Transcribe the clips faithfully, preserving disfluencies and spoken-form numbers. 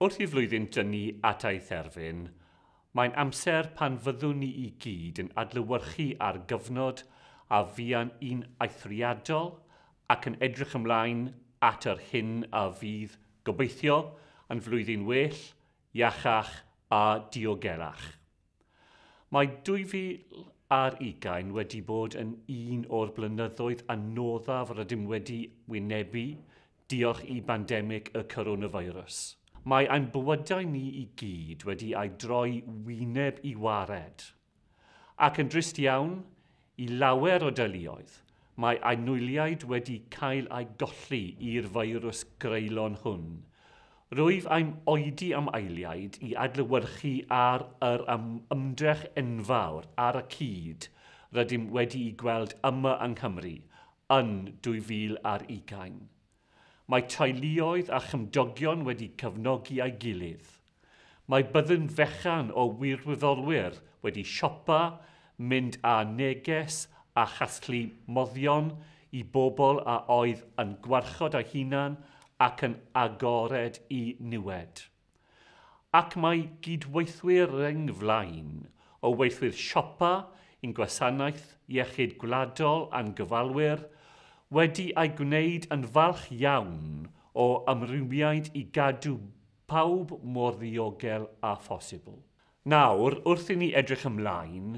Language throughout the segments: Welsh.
Wrth i flwyddyn dynnu at ei therfyn, mae'n amser pan fyddwn ni i gyd yn adlewyrchu ar gyfnod a fuan un eithriadol ac yn edrych ymlaen at yr hyn a fydd, gobeithio, yn flwyddyn well, iachach a diogelach. Mae dwy fil ar ugain wedi bod yn un o'r blynyddoedd anoddaf rydym wedi wynebu diolch i bandemig y coronavirus. Mae ein bywydau ni i gyd wedi ei droi wyneb i wared. Ac yn drist iawn, i lawer o deuluoedd, mae anwyliaid wedi cael ei golli i'r feirws greulon hwn. Rwyf am oedi am eiliad i adlewyrchu ar yr ymdrech enfawr ar y cyd rydym wedi'i gweld yma yng Nghymru yn dwy fil ar ugain. Mae teuluoedd a chymdogion wedi cefnogi ei gilydd. Mae byddin fechan o wirfoddolwyr wedi siopa, mynd â neges a chasglu moddion i bobl a oedd yn gwarchod eu hunan ac yn agored i niwed. Ac mae gydweithwyr rheng flaen o weithwyr siopa i'n gwasanaeth iechyd gwladol a'n gofalwyr wedi ei gwneud yn falch iawn o ymrwymiad i gadw pawb mor ddiogel â phosibl. Nawr, wrth i ni edrych ymlaen,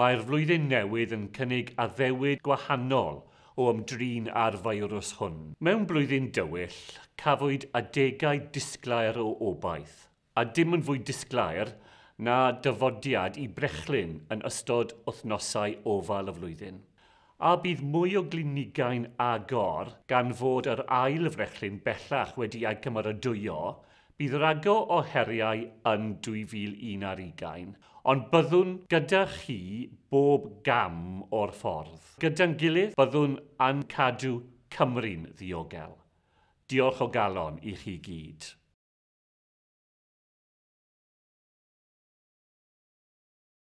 mae'r flwyddyn newydd yn cynnig addewid gwahanol o ymdrin â'r feirws hwn. Mewn blwyddyn dywyll, cafwyd adegau disglair o obaith, a dim yn fwy disglair na dyfodiad i brechlyn yn ystod wythnosau ofal y flwyddyn. A bydd mwy o glinigau'n agor gan fod yr ail frechlyn bellach wedi ei cymeradwyo, bydd rhagor o heriau yn dwy fil un ar ugain, ond byddwn gyda chi bob gam o'r ffordd. Gyda'n gilydd, byddwn yn cadw Cymru'n ddiogel. Diolch o galon i chi gyd.